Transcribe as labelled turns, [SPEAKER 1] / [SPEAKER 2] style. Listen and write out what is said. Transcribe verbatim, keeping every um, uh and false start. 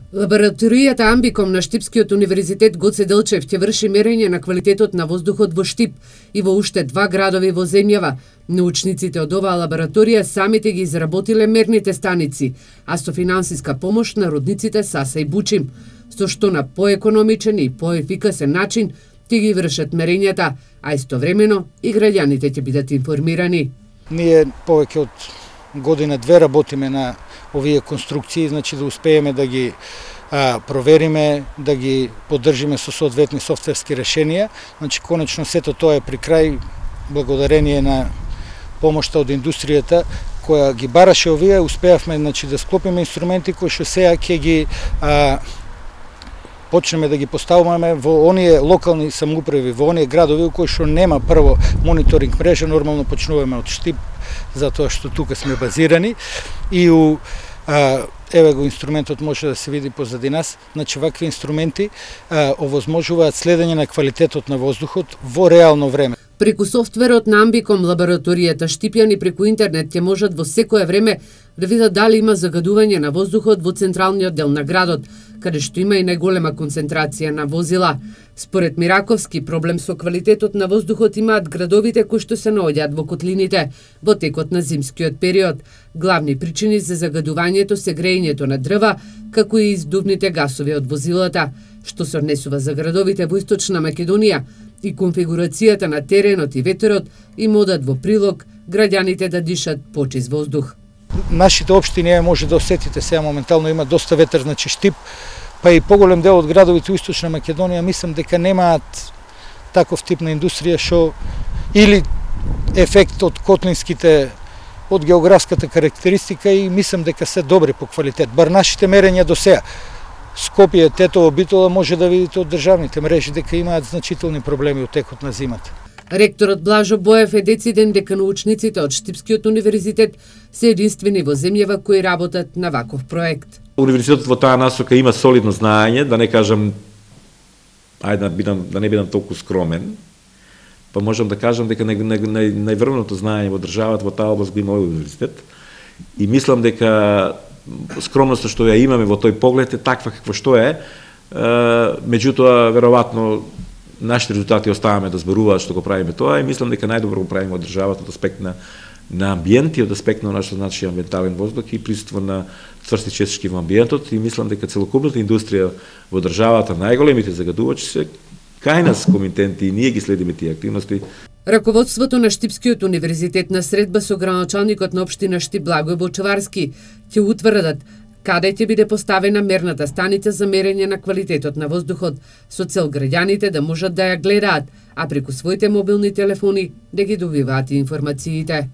[SPEAKER 1] Лабораторијата Амбиком на Штипскиот универзитет Гоце Делчев ќе врши мерење на квалитетот на воздухот во Штип и во уште два градови во земјава. Научниците од оваа лабораторија самите ги изработиле мерните станици, а со финансиска помош на родниците Саса и Бучим, со што на поекономичен и поефикасен начин ќе ги вршат мерењата, а истовремено и граѓаните ќе бидат информирани.
[SPEAKER 2] Ние повеќе од година две работиме на овие конструкции, значи да успееме да ги а, провериме, да ги поддржиме со соодветни софтверски решенија. Значи конечно сето тоа е при крај благодарение на помошта од индустријата која ги бараше овие, успеавме значи да склопиме инструменти кои што сега ќе ги а, почнеме да ги поставуваме во оние локални самоуправи, во оние градови во кои што нема прво мониторинг мрежа, нормално почнуваме од Штип, затоа што тука сме базирани и у а, еве го инструментот може да се види позади нас. Значи вакви инструменти а, овозможуваат следење на квалитетот на воздухот во реално време.
[SPEAKER 1] Преку софтверот на Амбиком лабораторијата Штипјани преку интернет ќе можат во секое време да видат дали има загадување на воздухот во централниот дел на градот, каде што има и најголема концентрација на возила. Според Мираковски, проблем со квалитетот на воздухот имаат градовите кои што се наоѓаат во котлините во текот на зимскиот период. Главни причини за загадувањето се грејењето на дрва, како и издувните гасови од возилата, што се однесува за градовите во Источна Македонија и конфигурацијата на теренот и ветерот им одат во прилог граѓаните да дишат почист воздух.
[SPEAKER 2] Нашите општини може да осетите сега моментално има доста ветер, значи Штип, па и поголем дел од градовите во Источна Македонија мислам дека немаат таков тип на индустрија што или ефект од котлинските од географската карактеристика и мислам дека се добри по квалитет. Бар нашите мерења до сега. Скопје, Тетово, Битола може да видите од државните мрежи дека имаат значителни проблеми од текот на зимата.
[SPEAKER 1] Ректорот Блажо Боев е дециден дека научниците од Штипскиот универзитет се единствени во земјава кои работат на ваков проект.
[SPEAKER 3] Универзитетот во таа насока има солидно знаење, да не кажам, ајде да, бидам, да не бидам толку скромен, па можам да кажам дека нај, нај, нај, најврвното знаење во државата во таа област го има овој универзитет. И мислам дека скромноста што ја имаме во тој поглед е таква какво што е, меѓутоа веројатно нашите резултати оставаме да зборуваат што го правиме тоа и мислам дека најдобро го правиме од државата од аспект на на амбиент и од аспект на нашиот значи амбиентален воздух и присуство на цврсти честички во амбиентот и мислам дека целокупната индустрија во државата, најголемите загадувачи се кај нас комитенти и ние ги следиме тие активности.
[SPEAKER 1] Раководството на Штипскиот универзитет на средба со граначалникот на општина Штип Благој Бочеварски ќе утврдат каде ќе биде поставена мерната станица за мерење на квалитетот на воздухот, со цел граѓаните да можат да ја гледаат, а преку своите мобилни телефони да ги добиваат информациите.